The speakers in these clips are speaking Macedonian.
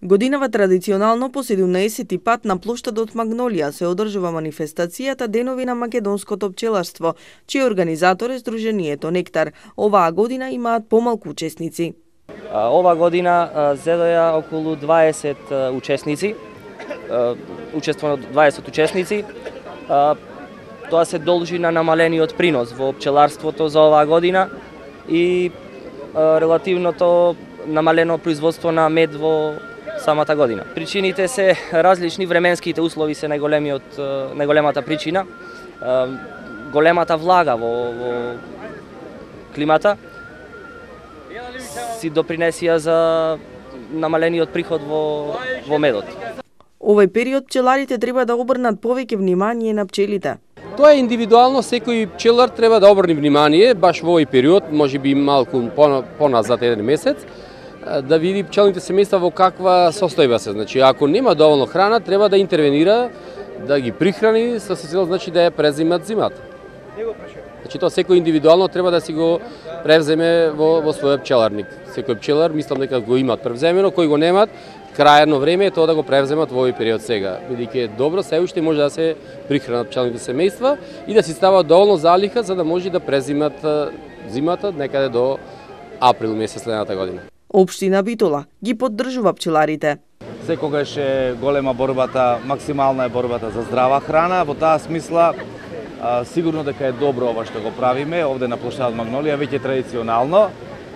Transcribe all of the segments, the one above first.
Годинава традиционално по 17-ти пат на плоштадот Магнолија се одржува манифестацијата Денови на македонското пчеларство, чиј организатор е Сдруженијето Нектар. Оваа година имаат помалку учесници. Ова година зедоја околу 20 учесници, учествувано 20 учесници. Тоа се должи на намалениот принос во пчеларството за оваа година и релативното намалено производство на мед во самата година. Причините се различни, временските услови се најголемата причина. Големата влага во климата си допринесија за намалениот приход во медот. Овој период пчеларите треба да обрнат повеќе внимание на пчелите. Тоа е индивидуално, секој пчелар треба да обрне внимание баш во овој период, можеби малку поназад еден месец, да види пчелните семејства во каква состојба се. Значи, ако нема доволно храна, треба да интервенира, да ги прихрани со цел, значи да ја презимат зимата. Значи, тоа секој индивидуално треба да си го превземе во својот пчеларник. Секој пчелар, мислам дека го имаат превземено, кои го немаат, крајно време е тоа да го превземат во овој период сега. Бидејќи е добро, се уште може да се прихранат пчелните семејства и да си стават доволно залиха за да може да презимат зимата некаде до април месец следната година. Општина Битола ги поддржува пчеларите. Секогаш е голема борбата, максимална е борбата за здрава храна. Во таа смисла, сигурно дека е добро ова што го правиме овде на плоштадот Магнолија, веќе традиционално.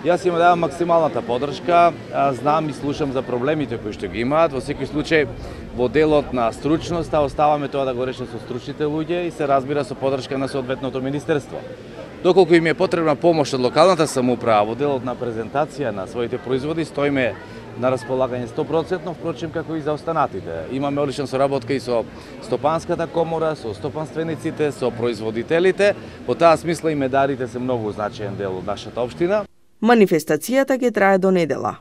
Јас им давам максималната поддршка, знам и слушам за проблемите кои што ги имаат. Во секој случај, во делот на стручноста, оставаме тоа да го решат со стручните луѓе и се разбира со поддршка на соодветното министерство. Доколку им е потребна помош од локалната самоуправа во делот на презентација на своите производи, стоиме на располагање 100%, впрочем како и за останатите. Имаме одлична соработка и со Стопанската комора, со стопанствениците, со производителите. Во таа смисла и медарите се многу значаен дел од нашата општина. Манифестацијата ќе трае до недела.